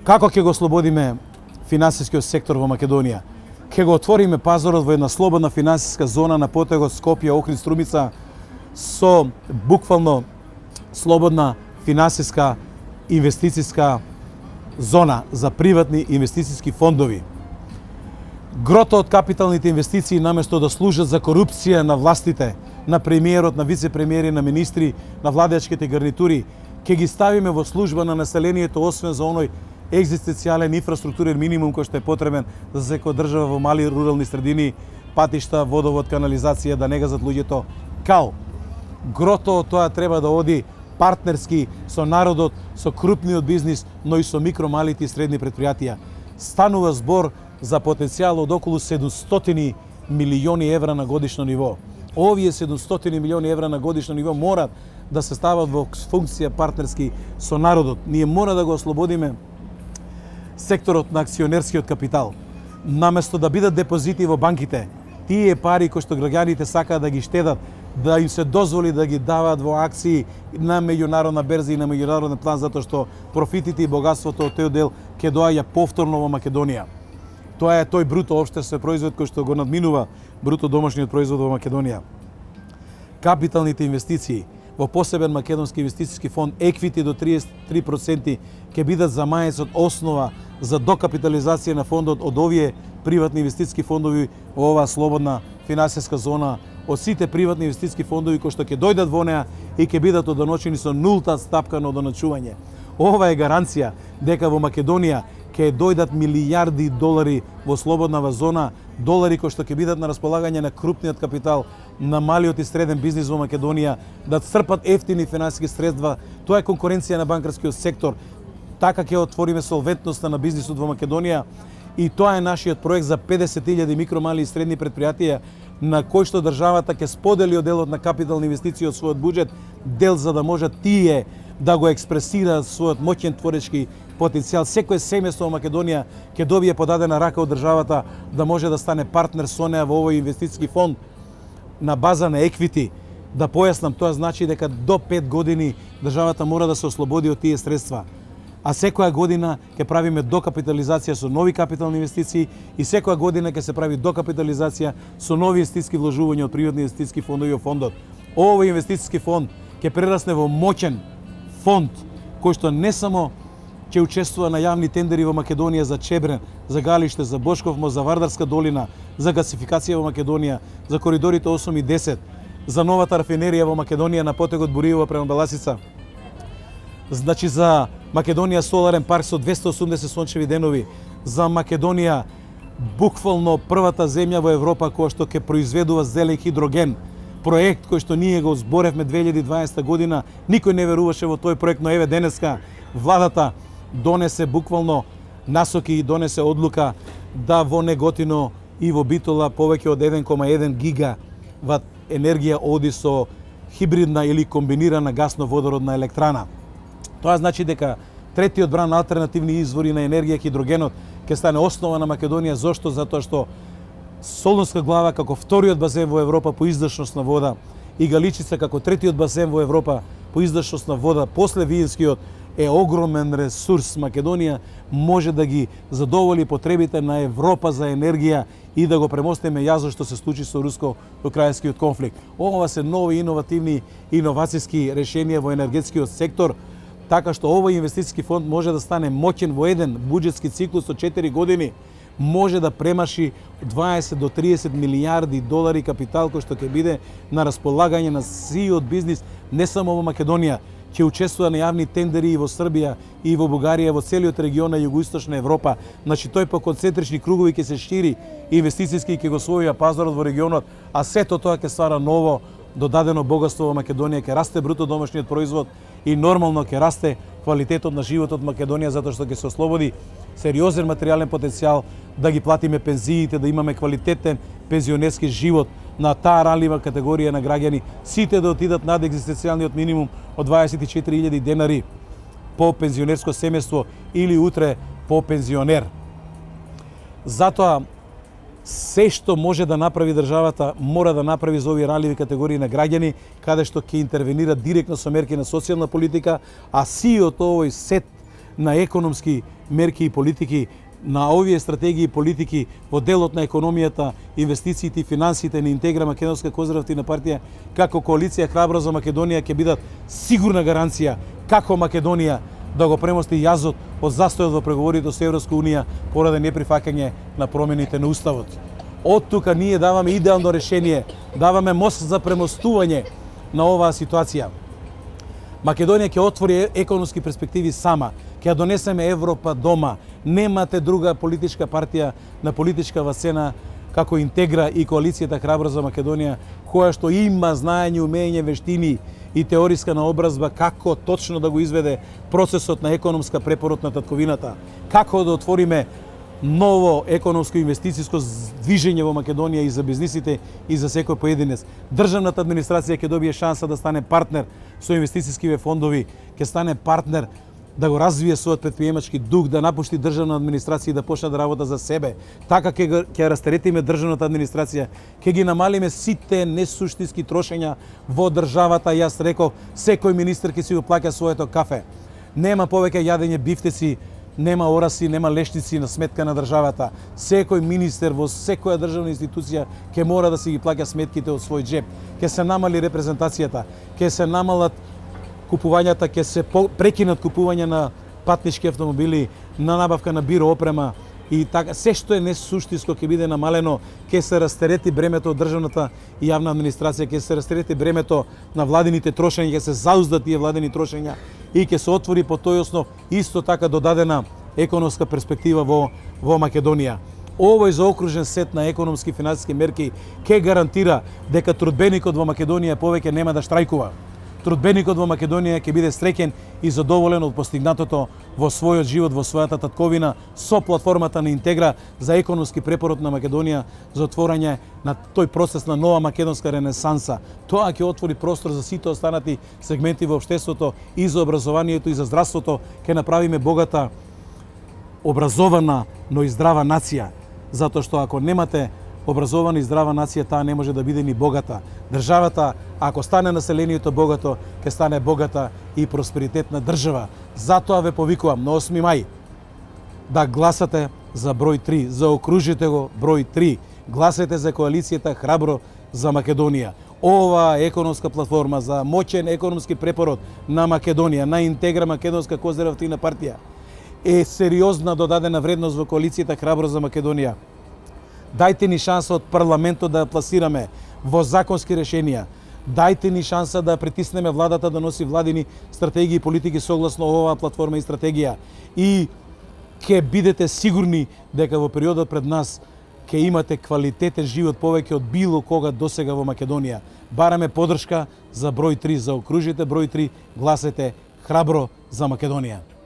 Како ќе го ослободиме финансискиот сектор во Македонија? Ќе го отвориме пазарот во една слободна финансиска зона на потегот Скопје, Охрид, Струмица со буквално слободна финансиска инвестициска зона за приватни инвестициски фондови. Грото од капиталните инвестиции наместо да служат за корупција на властите, на премиерот, на вице-премиери, на министри, на владачките гарнитури, ќе ги ставиме во служба на населението, освен за оној екзистенцијален инфраструктурен минимум кој што е потребен за секоја држава во мали рурални средини, патишта, водовод, канализација, да не газат луѓето кал. Грото тоа треба да оди партнерски со народот, со крупниот бизнис, но и со микро, малите и средни предпријатија. Станува збор за потенцијал од околу 700 милиони евра на годишно ниво. Овие 700 милиони евра на годишно ниво морат да се стават во функција партнерски со народот. Ние мора да го ослободиме секторот на акционерскиот капитал. Наместо да бидат депозити во банките, тие пари кои што граѓаните сакаат да ги штедат, да им се дозволи да ги даваат во акции на меѓународна берза и на меѓународен план, затоа што профитите и богатството од тој дел ќе доаѓа повторно во Македонија. Тоа е тој бруто општествен производ кој што го надминува бруто домашниот производ во Македонија. Капиталните инвестиции во посебен македонски инвестициски фонд еквити до 33% ќе бидат за мајецот основа за докапитализација на фондот од овие приватни инвестициски фондови во оваа слободна финансиска зона, од сите приватни инвестициски фондови кои што ќе дојдат во неа и ќе бидат одоначени со нулта стапка на одоначување. Ова е гаранција дека во Македонија ќе дојдат милијарди долари во слободнава зона, долари кои што ќе бидат на располагање на крупниот капитал, на малиот и среден бизнис во Македонија, да црпат ефтини финансиски средства. Тоа е конкуренција на банкарскиот сектор. Така ќе отвориме солвентноста на бизнисот во Македонија и тоа е нашиот проект за 50.000 микро, мали и средни предпријатија на кој што државата ќе сподели делот на капитални инвестиции од својот буџет, дел за да можат тие да го експресираат својот моќен творечки потенцијал. Секој семејство во Македонија ќе добие подадена рака од државата да може да стане партнер со неа во овој инвестициски фонд на база на еквити. Да појаснам, тоа значи дека до 5 години државата мора да се ослободи од тие средства. А секоја година ќе правиме докапитализација со нови капитални инвестиции и секоја година ќе се прави докапитализација со нови инвестициски вложувања од приватни инвестициски фондови во фондот. Овој инвестициски фонд ќе прерасне во моќен фонд кој што не само ќе учествува на јавни тендери во Македонија за Чебрен, за Галиште, за Бошков мост, за Вардарска долина, за гасификација во Македонија, за коридорите 8 и 10, за новата рафинерија во Македонија на потегот Буриево према Беласица. Значи за Македонија соларен парк со 280 сончеви денови, за Македонија буквално првата земја во Европа која што ќе произведува зелен хидроген. Проект кој што ние го зборевме 2020 година, никој не веруваше во тој проект, но еве денеска владата донесе буквално насоки и донесе одлука да во Неготино и во Битола повеќе од 1,1 гигават енергија оди со хибридна или комбинирана гасно-водородна електрана. Тоа значи дека третиот бран алтернативни извори на енергија, хидрогенот, ќе стане основа на Македонија. Зошто? Затоа што Солунска глава како вториот базен во Европа по издашност на вода и Галичица како третиот базен во Европа по издашност на вода после Виенскиот е огромен ресурс. Македонија може да ги задоволи потребите на Европа за енергија и да го премостиме јазот што се случи со руско-украинскиот конфликт. Ова се нови иновативни иновацијски решенија во енергетскиот сектор, така што овој инвестициски фонд може да стане моќен во еден буџетски циклус од 4 години, може да премаши 20 до 30 милијарди долари капитал кој што ќе биде на располагање на сиот бизнис не само во Македонија, ќе учествува на јавни тендери и во Србија и во Бугарија, во целиот регион на југоисточна Европа. Значи тој по концентрични кругови ќе се шири инвестицијски и ќе го освои пазарот во регионот, а сето тоа ќе ствара ново додадено богатство во Македонија, ќе расте бруто домашниот производ и нормално ќе расте квалитетот на животот во Македонија, затоа што ќе се ослободи сериозен материјален потенцијал да ги платиме пензиите, да имаме квалитетен пензионерски живот на таа ранлива категорија на граѓани, сите да отидат над екзистенцијалниот минимум од 24.000 денари по пензионерско семејство или утре по пензионер. Затоа се што може да направи државата, мора да направи за овие ранливи категории на граѓани, каде што ќе интервенира директно со мерки на социјална политика, а сиот овој сет на економски мерки и политики, на овие стратегии и политики во делот на економијата, инвестициите и финансите на Интегра Македонска конзервативна партија, како коалиција Храбро за Македонија ќе бидат сигурна гаранција како Македонија да го премости јазот од застојот во преговорите со Европска унија поради неприфаќање на промените на уставот. Од тука ние даваме идеално решение, даваме мост за премостување на оваа ситуација. Македонија ќе отвори економски перспективи сама, ќе донесеме Европа дома. Немате друга политичка партија на политичка сцена како Интегра и коалицијата Храбро за Македонија, која што има знаење, умење, вештини и теориска наобразба како точно да го изведе процесот на економска препорот на татковината, како да отвориме ново економско инвестицијско движење во Македонија и за бизнисите и за секој поединец. Државната администрација ќе добие шанса да стане партнер со инвестицијските фондови, ќе стане партнер да го развие својот предприемачки дух, да напушти државна администрација и да почне да работа за себе. Така ќе растеретиме државната администрација, ќе ги намалиме сите несуштински трошења во државата. Јас реков, секој министер ќе си го плаќа своето кафе. Нема повеќе јадење бифтеци, нема ораси, нема лешници на сметка на државата. Секој министер во секоја државна институција ќе мора да си ги плаќа сметките од свој джеб. Ќе се намали репрезентацијата, ќе се намалат купувањата, ќе се прекинат купување на патнички автомобили, на набавка на биро опрема и така се што е несуштинско ќе биде намалено, ќе се растерети бремето од државната и јавна администрација, ќе се растерети бремето на владините трошења, ќе се зауздат тие владини трошења и ќе се отвори по тој основ исто така додадена економска перспектива во Македонија. Овој заокружен сет на економски и финансиски мерки ќе гарантира дека трудбеникот во Македонија повеќе нема да штрајкува. Трудбеникот во Македонија ќе биде среќен и задоволен од постигнатото во својот живот, во својата татковина, со платформата на Интегра за економски препорот на Македонија за отворање на тој процес на нова македонска ренесанса. Тоа ќе отвори простор за сите останати сегменти во општеството и за образованието и за здравството. Ќе направиме богата, образована, но и здрава нација. Затоа што ако немате образована и здрава нација, таа не може да биде ни богата. Државата, ако стане населението богато, ќе стане богата и просперитетна држава. Затоа ве повикувам на 8 мај да гласате за број 3, заокружите го број 3. Гласете за коалицијата Храбро за Македонија. Ова економска платформа за моќен економски препорот на Македонија, на Интегра Македонска конзервативна партија, е сериозна додадена вредност во коалицијата Храбро за Македонија. Дајте ни шанса од парламентот да ја пласираме во законски решенија. Дајте ни шанса да притиснеме владата да носи владини стратегии и политики согласно оваа платформа и стратегија. И ќе бидете сигурни дека во периодот пред нас ќе имате квалитетен живот повеќе од било кога досега во Македонија. Бараме поддршка за број 3, заокружите број 3, гласете Храбро за Македонија.